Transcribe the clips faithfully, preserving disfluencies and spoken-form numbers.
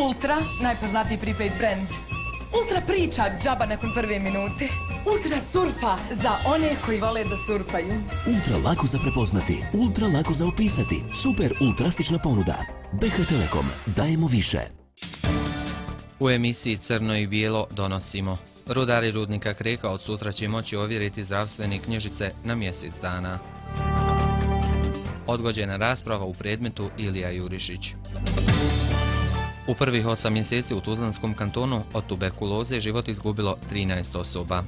Ultra, najpoznatiji prepaid brand. Ultra priča džaba nakon prve minute. Ultra surfa za one koji vole da surfaju. Ultra lako za prepoznati, ultra lako za opisati. Super ultrastična ponuda. B H Telekom, dajemo više. U emisiji Crno i bijelo donosimo. Rudari rudnika Kreka od sutra će moći ovjeriti zdravstvene knjižice na mjesec dana. Odgođena rasprava u predmetu Ilija Jurišić. U prvih osam mjeseci u Tuzlanskom kantonu od tuberkuloze život izgubilo trinaest osoba.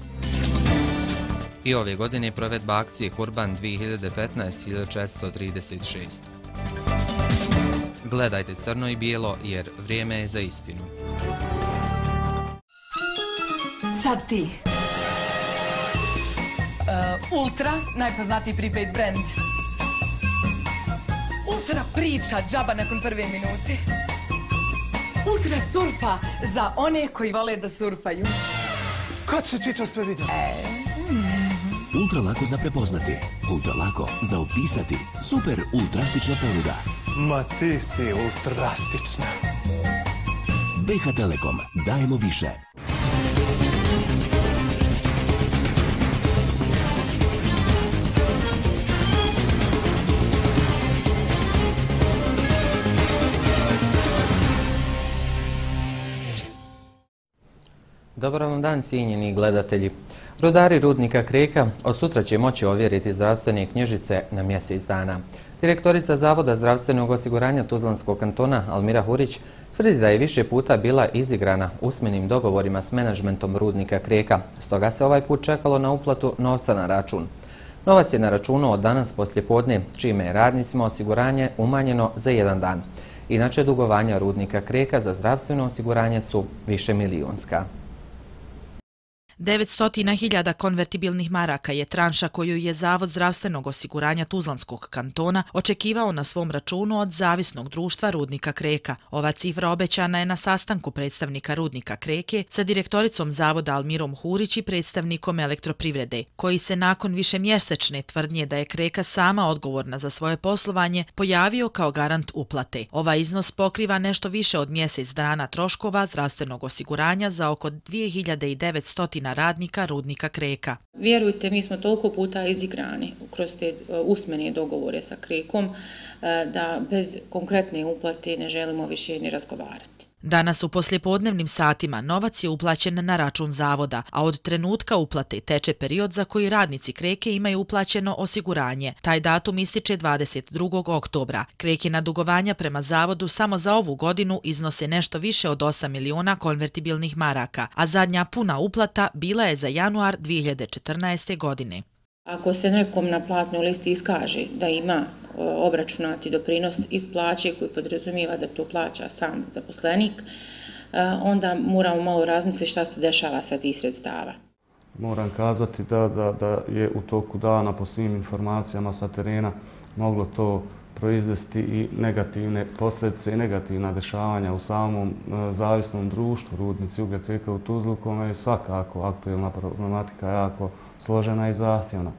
I ove godine provedba akcije Kurban dvije hiljade petnaest hiljada četiristo trideset šest. Gledajte Crno i bijelo jer vrijeme je za istinu. Sad ti. Uh, Ultra, najpoznatiji prepaid brand. Ultra priča džaba nakon prve minute. Ultra surfa za one koji vole da surfaju. Kad si ti to sve vidio? E, mm. Ultra lako za prepoznati, ultra lako za opisati. Super ultrastična ponuda. Ma ti si ultrastična. B H Telekom, dajemo više. Dobar vam dan, cijenjeni gledatelji. Rudari rudnika Kreka od sutra će moći ovjeriti zdravstvene knjižice na mjesec dana. Direktorica Zavoda zdravstvenog osiguranja Tuzlanskog kantona Almira Hurić tvrdi da je više puta bila izigrana usmenim dogovorima s menadžmentom rudnika Kreka, stoga se ovaj put čekalo na uplatu novca na račun. Novac je na računu od danas poslijepodne, čime je radnicima osiguranje umanjeno za jedan dan. Inače, dugovanja rudnika Kreka za zdravstveno osiguranje su više milijunska. devetsto hiljada konvertibilnih maraka je tranša koju je Zavod zdravstvenog osiguranja Tuzlanskog kantona očekivao na svom računu od Zavisnog društva rudnika Kreka. Ova cifra obećana je na sastanku predstavnika rudnika Kreke sa direktoricom Zavoda Almirom Hurić i predstavnikom Elektroprivrede, koji se nakon višemjesečne tvrdnje da je Kreka sama odgovorna za svoje poslovanje pojavio kao garant uplate. Ovaj iznos pokriva nešto više od mjesec dana troškova zdravstvenog osiguranja za oko dvije hiljade devetsto radnika rudnika Kreka. Vjerujte, mi smo toliko puta izigrani kroz te usmene dogovore sa Krekom da bez konkretne uplate ne želimo više ni razgovarati. Danas u poslijepodnevnim satima novac je uplaćen na račun zavoda, a od trenutka uplate teče period za koji radnici Kreke imaju uplaćeno osiguranje. Taj datum ističe dvadeset drugog oktobra. Krekina dugovanja prema zavodu samo za ovu godinu iznose nešto više od osam miliona konvertibilnih maraka, a zadnja puna uplata bila je za januar dvije hiljade četrnaeste. godine. Ako se nekom na platnoj listi iskaže da ima obračunati doprinos iz plaće koji podrazumijeva da to plaća sam zaposlenik, onda moramo malo razmisliti šta se dešava sa tih sredstava. Moram kazati da, da, da je u toku dana po svim informacijama sa terena moglo to proizvesti i negativne posljedice i negativna dešavanja u samom zavisnom društvu Rudnici uglja Kreka u Tuzlu, kome je svakako aktuelna problematika jako složena i zahtjevna.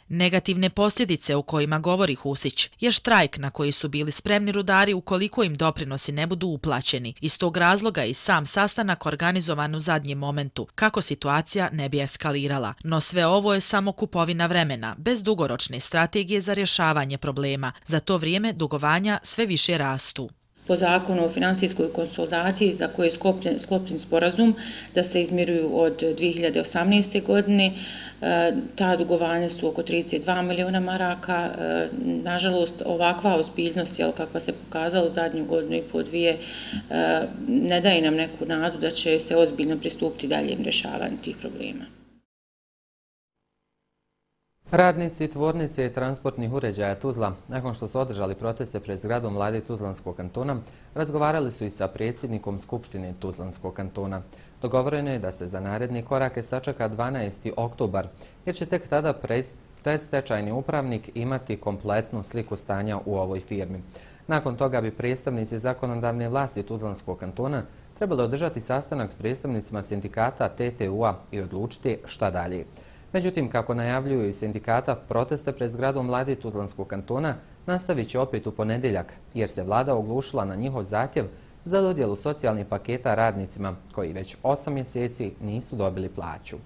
Negativne posljedice o kojima govori Husić je štrajk na koji su bili spremni rudari ukoliko im doprinosi ne budu uplaćeni. Iz tog razloga i sam sastanak organizovan u zadnjem momentu, kako situacija ne bi eskalirala. No sve ovo je samo kupovina vremena, bez dugoročne strategije za rješavanje problema. Za to vrijeme dugovanja sve više rastu. Po zakonu o finansijskoj konsolidaciji za koje je sklopljen, sklopljen sporazum da se izmiruju od dvije hiljade osamnaeste. godine, ta dugovanja su oko trideset dva miliona maraka. Nažalost, ovakva ozbiljnost, jel, kakva se pokazala u zadnju godinu i po dvije, ne daje nam neku nadu da će se ozbiljno pristupiti daljem rješavanju tih problema. Radnici tvornice transportnih uređaja Tuzla, nakon što su održali proteste pred zgradom vlade Tuzlanskog kantona, razgovarali su i sa predsjednikom Skupštine Tuzlanskog kantona. Dogovoreno je da se za naredne korake sačeka dvanaesti oktobar, jer će tek tada predstečajni upravnik imati kompletnu sliku stanja u ovoj firmi. Nakon toga bi predstavnici zakonodavne vlasti Tuzlanskog kantona trebali održati sastanak s predstavnicima sindikata T T U-a i odlučiti šta dalje. Međutim, kako najavljuju iz sindikata, proteste pred zgradom vlade Tuzlanskog kantona nastavit će opet u ponedjeljak, jer se vlada oglušila na njihov zahtjev za dodjelu socijalnih paketa radnicima koji već osam mjeseci nisu dobili plaću.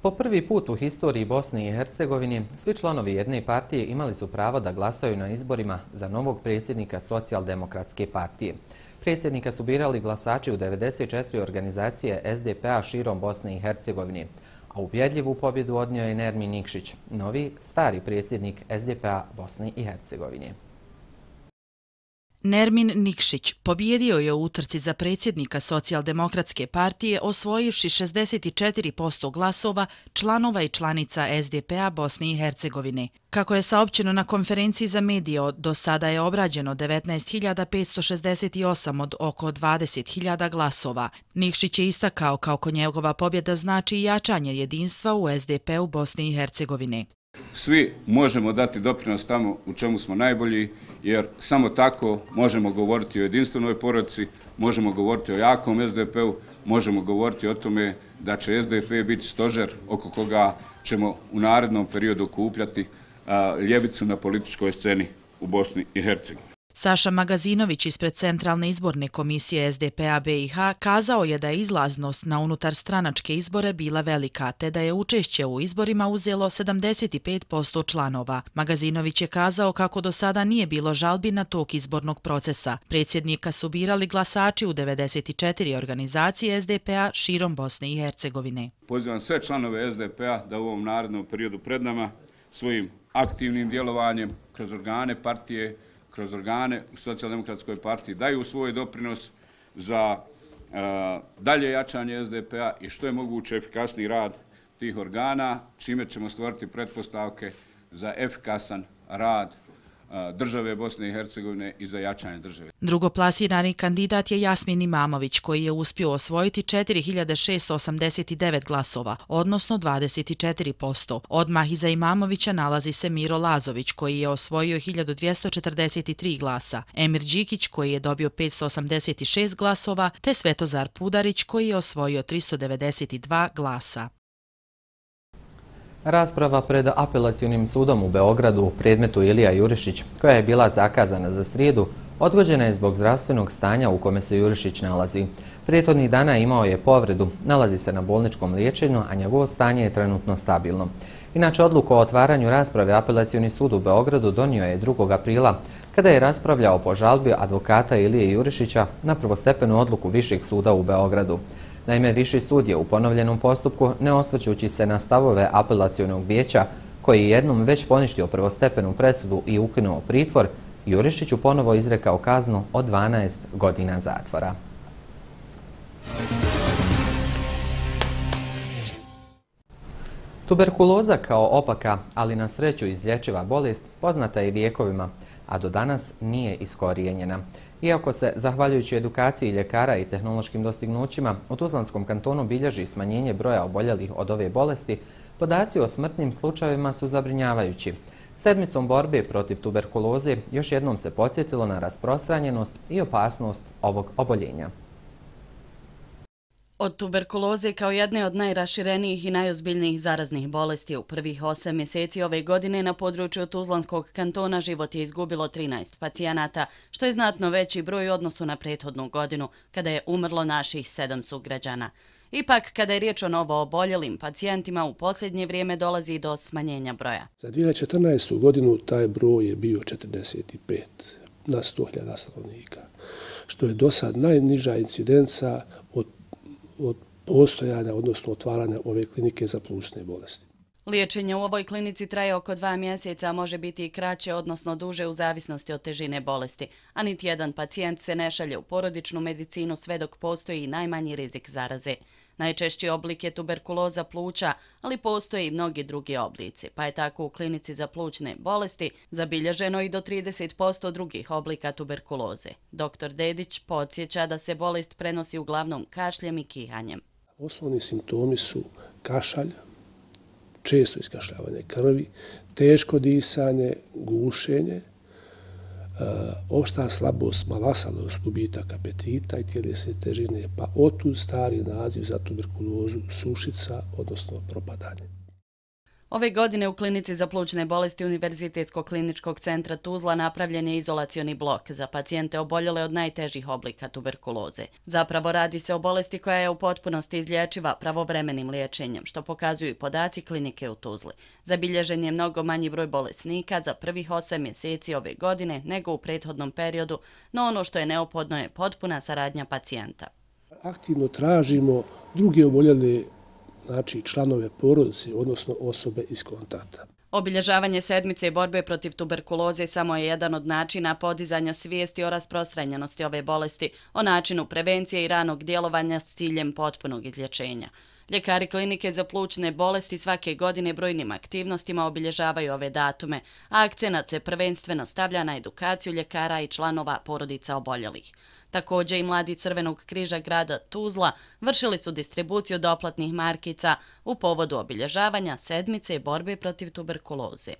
Po prvi put u historiji Bosne i Hercegovine svi članovi jedne partije imali su pravo da glasaju na izborima za novog predsjednika Socijaldemokratske partije. Predsjednika su birali glasači u devedeset četiri organizacije S D P a širom Bosne i Hercegovine, a ubjedljivu pobjedu odnio je Nermin Nikšić, novi stari predsjednik S D P a Bosne i Hercegovine. Nermin Nikšić pobijedio je u utrci za predsjednika Socijaldemokratske partije osvojivši šezdeset četiri posto glasova članova i članica S D P a Bosne i Hercegovine. Kako je saopćeno na konferenciji za medije, do sada je obrađeno devetnaest hiljada petsto šezdeset osam od oko dvadeset hiljada glasova. Nikšić je istakao kako njegova pobjeda znači jačanje jedinstva u S D P u Bosne i Hercegovine. Svi možemo dati doprinos tamo u čemu smo najbolji, jer samo tako možemo govoriti o jedinstvenoj porodici, možemo govoriti o jakom S D P u, možemo govoriti o tome da će S D P biti stožer oko koga ćemo u narednom periodu okupljati ljevicu na političkoj sceni u Bosni i Hercegovini. Saša Magazinović ispred Centralne izborne komisije S D P a B i H kazao je da je izlaznost na unutar stranačke izbore bila velika, te da je učešće u izborima uzelo sedamdeset pet posto članova. Magazinović je kazao kako do sada nije bilo žalbi na tok izbornog procesa. Predsjednika su birali glasači u devedeset četiri organizacije S D P a širom Bosne i Hercegovine. Pozivam sve članove S D P a da u ovom narednom periodu pred nama svojim aktivnim djelovanjem kroz organe partije, kroz organe u Socijaldemokratskoj partiji daju svoj doprinos za uh, dalje jačanje S D P a i što je moguće efikasniji rad tih organa, čime ćemo stvoriti pretpostavke za efikasan rad uh, države Bosne i Hercegovine i za jačanje države. Drugoplasirani kandidat je Jasmin Imamović, koji je uspio osvojiti četiri hiljade šessto osamdeset devet glasova, odnosno dvadeset četiri posto. Odmah iza Imamovića nalazi se Miro Lazović, koji je osvojio hiljadu dvjesto četrdeset tri glasa, Emir Đikić, koji je dobio petsto osamdeset šest glasova, te Svetozar Pudarić, koji je osvojio tristo devedeset dva glasa. Rasprava pred apelacionim sudom u Beogradu u predmetu Ilija Jurišić, koja je bila zakazana za srijedu, odgođena je zbog zdravstvenog stanja u kome se Jurišić nalazi. Prethodnih dana imao je povredu, nalazi se na bolničkom liječenju, a njegovo stanje je trenutno stabilno. Inače, odluku o otvaranju rasprave apelacioni sud u Beogradu donio je drugog aprila, kada je raspravljao po žalbi advokata Ilije Jurišića na prvostepenu odluku Višeg suda u Beogradu. Naime, Viši sud je u ponovljenom postupku, ne osvrćući se na stavove apelacionog vijeća, koji je jednom već poništio prvostepenu presudu i ukinuo pritvor, Jurišiću ponovo izrekao kaznu od dvanaest godina zatvora. Tuberkuloza kao opaka, ali na sreću izlječiva bolest, poznata je vijekovima, a do danas nije iskorijenjena. Iako se, zahvaljujući edukaciji ljekara i tehnološkim dostignućima, u Tuzlanskom kantonu bilježi smanjenje broja oboljelih od ove bolesti, podaci o smrtnim slučajevima su zabrinjavajući. Sedmicom borbe protiv tuberkuloze još jednom se podsjetilo na rasprostranjenost i opasnost ovog oboljenja. Od tuberkuloze kao jedne od najraširenijih i najozbiljnijih zaraznih bolesti u prvih osam mjeseci ove godine na području Tuzlanskog kantona život je izgubilo trinaest pacijenata, što je znatno veći broj u odnosu na prethodnu godinu, kada je umrlo naših sedam sugrađana. Ipak, kada je riječ o novo oboljelim pacijentima, u posljednje vrijeme dolazi do smanjenja broja. Za dvije hiljade četrnaestu. godinu taj broj je bio četrdeset pet na sto hiljada stanovnika, što je do sad najniža incidenca od od postojanja, odnosno otvaranja ove klinike za plućne bolesti. Liječenje u ovoj klinici traje oko dva mjeseca, a može biti i kraće, odnosno duže u zavisnosti od težine bolesti, a niti jedan pacijent se ne šalje u porodičnu medicinu sve dok postoji najmanji rizik zaraze. Najčešći oblik je tuberkuloza pluća, ali postoje i mnogi drugi oblici, pa je tako u klinici za plućne bolesti zabilježeno i do trideset posto drugih oblika tuberkuloze. Doktor Dedić podsjeća da se bolest prenosi uglavnom kašljem i kihanjem. Osnovni simptomi su kašalj, često iskašljavanje krvi, teško disanje, gušenje, opšta slabost, malasalost, gubitak apetita i tjelesne težine, pa otud stari naziv za tuberkulozu sušica, odnosno propadanje. Ove godine u klinici za plućne bolesti Univerzitetskog kliničkog centra Tuzla napravljen je izolacioni blok za pacijente oboljele od najtežih oblika tuberkuloze. Zapravo radi se o bolesti koja je u potpunosti izlječiva pravovremenim liječenjem, što pokazuju i podaci klinike u Tuzli. Zabilježen je mnogo manji broj bolesnika za prvih osam mjeseci ove godine nego u prethodnom periodu, no ono što je neophodno je potpuna saradnja pacijenta. Aktivno tražimo druge oboljele, znači članove porodice, odnosno osobe iz kontakta. Obilježavanje sedmice borbe protiv tuberkuloze samo je jedan od načina podizanja svijesti o rasprostranjenosti ove bolesti, o načinu prevencije i ranog djelovanja s ciljem potpunog izlječenja. Ljekari klinike za plućne bolesti svake godine brojnim aktivnostima obilježavaju ove datume, a akcenat se prvenstveno stavlja na edukaciju ljekara i članova porodica oboljelih. Također i mladi Crvenog križa grada Tuzla vršili su distribuciju doplatnih markica u povodu obilježavanja sedmice borbe protiv tuberkuloze.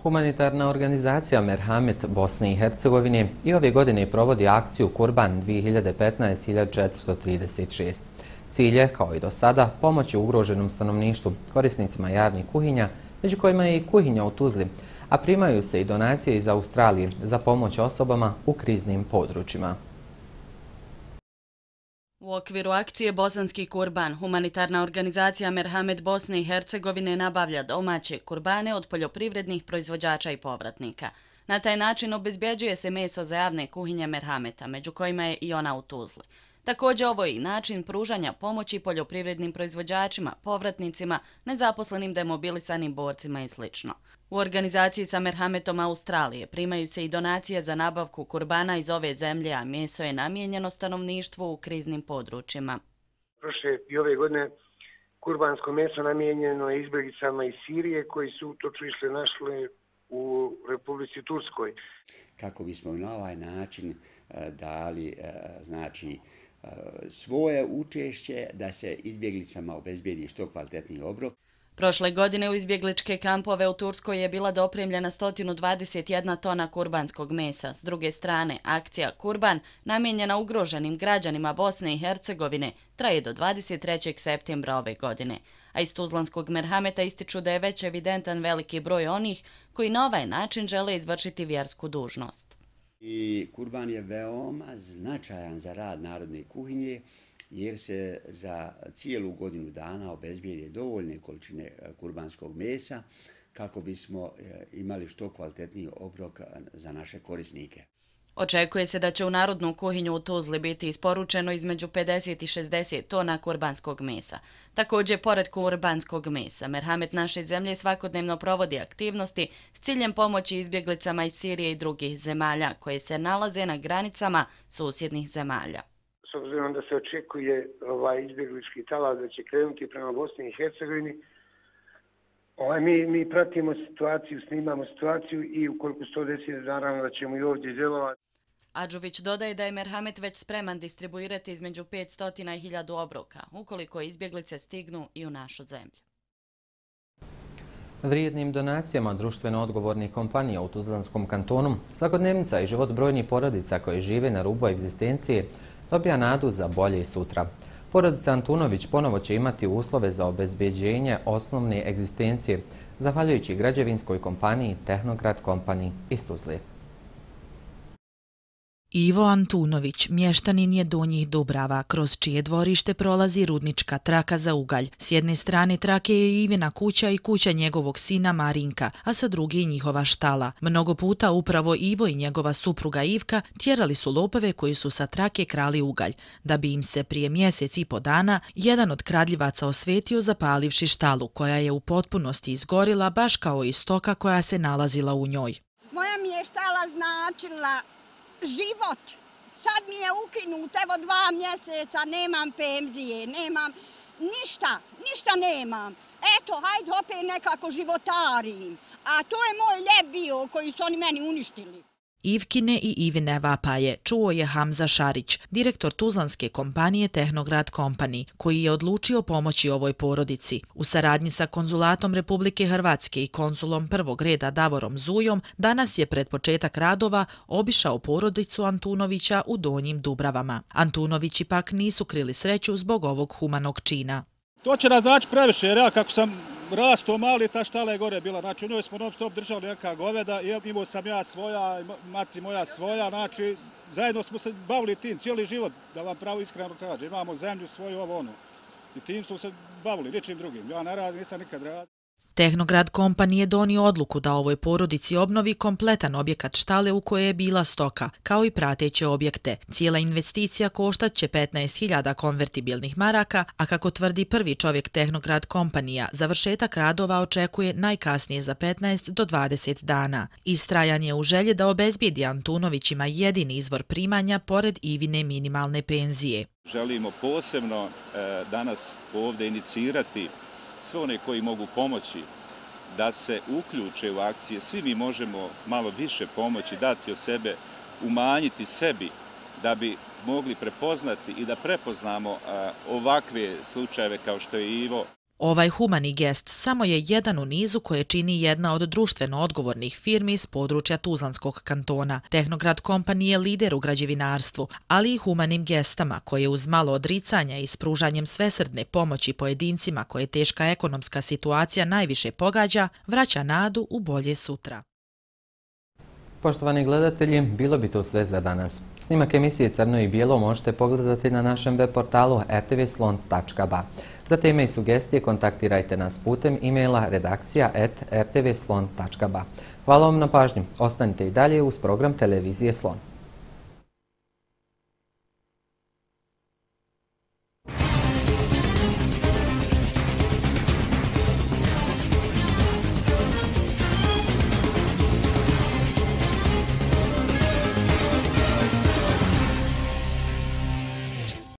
Humanitarna organizacija Merhamet Bosne i Hercegovine i ove godine provodi akciju Kurban dvije hiljade petnaest hiljadu četiristo trideset šest. Cilj je, kao i do sada, pomoći ugroženom stanovništvu, korisnicima javnih kuhinja, među kojima je i kuhinja u Tuzli, a primaju se i donacije iz Australije za pomoć osobama u kriznim područjima. U okviru akcije Bosanski kurban, humanitarna organizacija Merhamet Bosne i Hercegovine nabavlja domaće kurbane od poljoprivrednih proizvođača i povratnika. Na taj način obezbjeđuje se meso za javne kuhinje Merhameta, među kojima je i ona u Tuzli. Također ovo je i način pružanja pomoći poljoprivrednim proizvođačima, povratnicima, nezaposlenim demobilisanim borcima i sl. U organizaciji sa Merhametom Australije primaju se i donacije za nabavku kurbana iz ove zemlje, a meso je namijenjeno stanovništvu u kriznim područjima. Prošle i ove godine kurbansko meso namijenjeno je izbjeglicama iz Sirije koji su utočište našli u Republici Turskoj. Kako bismo na ovaj način dali, znači, svoje učešće da se izbjeglicama obezbijedi što kvalitetniji obrok. Prošle godine u izbjegličke kampove u Turskoj je bila dopremljena sto dvadeset jedna tona kurbanskog mesa. S druge strane, akcija Kurban, namijenjena ugroženim građanima Bosne i Hercegovine, traje do dvadeset trećeg septembra ove godine. A iz Tuzlanskog Merhameta ističu da je već evidentan veliki broj onih koji na ovaj način žele izvršiti vjersku dužnost. I kurban je veoma značajan za rad narodne kuhinje, jer se za cijelu godinu dana obezbijede dovoljne količine kurbanskog mesa kako bismo imali što kvalitetniji obrok za naše korisnike. Očekuje se da će u narodnu kuhinju u Tuzli biti isporučeno između pedeset i šezdeset tona kurbanskog mesa. Također, pored kurbanskog mesa, Merhamet naše zemlje svakodnevno provodi aktivnosti s ciljem pomoći izbjeglicama iz Sirije i drugih zemalja koje se nalaze na granicama susjednih zemalja. S obzirom da se očekuje ovaj izbjeglički talas da će krenuti prema Bosni i Hercegovini, ovaj, mi, mi pratimo situaciju, snimamo situaciju i ukoliko se to desi, naravno da ćemo i ovdje djelovati. Adžuvić dodaje da je Merhamet već spreman distribuirati između petsto i hiljadu obroka, ukoliko izbjeglice stignu i u našu zemlju. Vrijednim donacijama društveno odgovornih kompanija u Tuzlanskom kantonu svakodnevnica i život brojnih porodica koje žive na rubu egzistencije dobija nadu za bolje sutra. Porodica Antunović ponovo će imati uslove za obezbeđenje osnovne egzistencije, zahvaljujući građevinskoj kompaniji Tehnograd Company iz Tuzle. Ivo Antunović, mještanin je Donjih Dubrava, kroz čije dvorište prolazi rudnička traka za ugalj. S jedne strane trake je Ivina kuća i kuća njegovog sina Marinka, a sa druge njihova štala. Mnogo puta upravo Ivo i njegova supruga Ivka tjerali su lopove koji su sa trake krali ugalj, da bi im se prije mjesec i po dana jedan od kradljivaca osvetio zapalivši štalu, koja je u potpunosti izgorila baš kao i stoka koja se nalazila u njoj. Moja mi je štala značila život. Sad mi je ukinut, evo dva mjeseca, nemam penzije, nemam ništa, ništa nemam. Eto, hajde opet nekako životarim. A to je moj ljep bio koji su oni meni uništili. Ivkine i Ivine vapaje čuo je Hamza Šarić, direktor tuzlanske kompanije Tehnograd Company, koji je odlučio pomoći ovoj porodici. U saradnji sa konzulatom Republike Hrvatske i konzulom prvog reda Davorom Zujom, danas je pred početak radova obišao porodicu Antunovića u Donjim Dubravama. Antunovići pak nisu krili sreću zbog ovog humanog čina. To će nas znači previše, jer ja kako sam rasto mali, ta štala je gore bila. Znači, u njoj smo non stop držali neka goveda, imao sam ja svoja, mati moja svoja, znači, zajedno smo se bavili tim cijeli život, da vam pravo iskreno kažem. Imamo zemlju svoju, ovo ono. I tim smo se bavili, ničim drugim. Ja ne radim, nisam nikad radio. Tehnograd Company je donio odluku da ovoj porodici obnovi kompletan objekat štale u kojoj je bila stoka, kao i prateće objekte. Cijela investicija koštat će petnaest hiljada konvertibilnih maraka, a kako tvrdi prvi čovjek Tehnograd Companija, završetak radova očekuje najkasnije za petnaest do dvadeset dana. Istrajan je u želji da obezbijedi Antunovićima jedini izvor primanja pored Ivine minimalne penzije. Želimo posebno e, danas ovdje inicirati sve one koji mogu pomoći da se uključe u akcije. Svi mi možemo malo više pomoći, dati od sebe, umanjiti sebi da bi mogli prepoznati i da prepoznamo ovakve slučajeve kao što je Ivo. Ovaj humani gest samo je jedan u nizu koje čini jedna od društveno odgovornih firmi iz područja Tuzlanskog kantona. Tehnograd Company je lider u građevinarstvu, ali i humanim gestama koje uz malo odricanja i s pružanjem svesrdne pomoći pojedincima koje teška ekonomska situacija najviše pogađa, vraća nadu u bolje sutra. Poštovani gledatelji, bilo bi to sve za danas. Snimak emisije Crno i bijelo možete pogledati na našem web portalu r t v slon tačka b a. Za teme i sugestije kontaktirajte nas putem e-maila redakcija at r t v slon tačka b a. Hvala vam na pažnji. Ostanite i dalje uz program televizije Slon.